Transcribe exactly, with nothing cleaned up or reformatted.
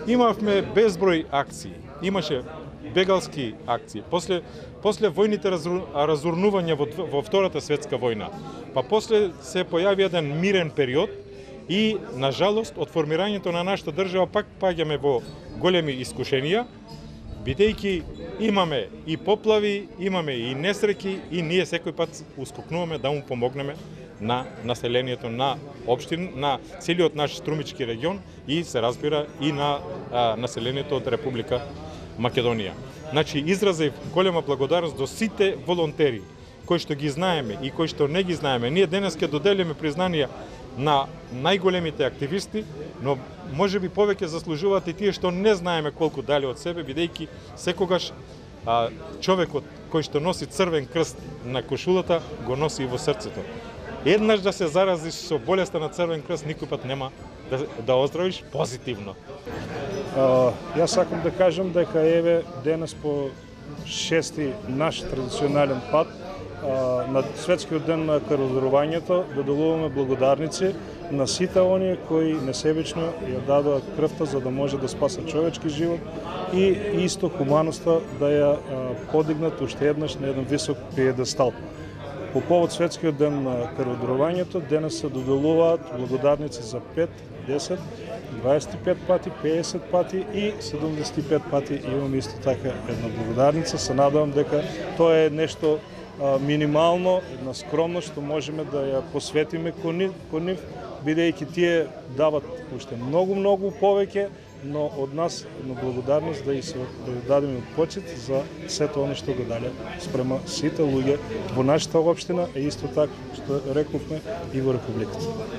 Имавме безброј акции. Имаше бегалски акции. После после војните разурнувања во, во Втората светска војна. Па после се појави еден мирен период и на жалост од формирањето на нашата држава пак паѓаме во големи искушенија, бидејќи имаме и поплави, имаме и несреќи и ние секој пат ускокнуваме да му помогнеме на населението на општина, на целиот наш струмички регион и се разбира и на а, населението од Република Македонија. Значи, изразив голема благодарност до сите волонтери кои што ги знаеме и кои што не ги знаеме. Ние денес ќе доделиме признанија на најголемите активисти, но може би повеќе заслужуваат и тие што не знаеме колку дали од себе, бидејќи секогаш а, човекот кој што носи црвен крст на кошулата го носи и во срцето. Еднаш да се заразиш со болеста на црвен крст, никој пат нема да, да оздравиш позитивно. Uh, јас сакам да кажам дека еве денес по шести наш традиционален пат uh, на Светскиот ден на крводарувањето да делуваме благодарници на сите оние кои несебично ја дадоа крвта за да може да спасат човечки живот и исто хуманоста да ја uh, подигнат уште еднаш на еден висок пиедестал. По повод Светскиот ден на крводарувањето денес се доделуваат благодарници за пет, десет, дваесет и пет пати, педесет пати и седумдесет и пет пати имам исто така една благодарница. Се надевам дека тоа е нешто а, минимално, една скромност што можеме да ја посветиме кон нив, бидејќи тие дават уште многу-многу повеќе, но од нас една благодарност да и се да дадеме почит за сето оно што го дале спрема сите луѓе во нашата општина, и исто така што рековме и во Републиката.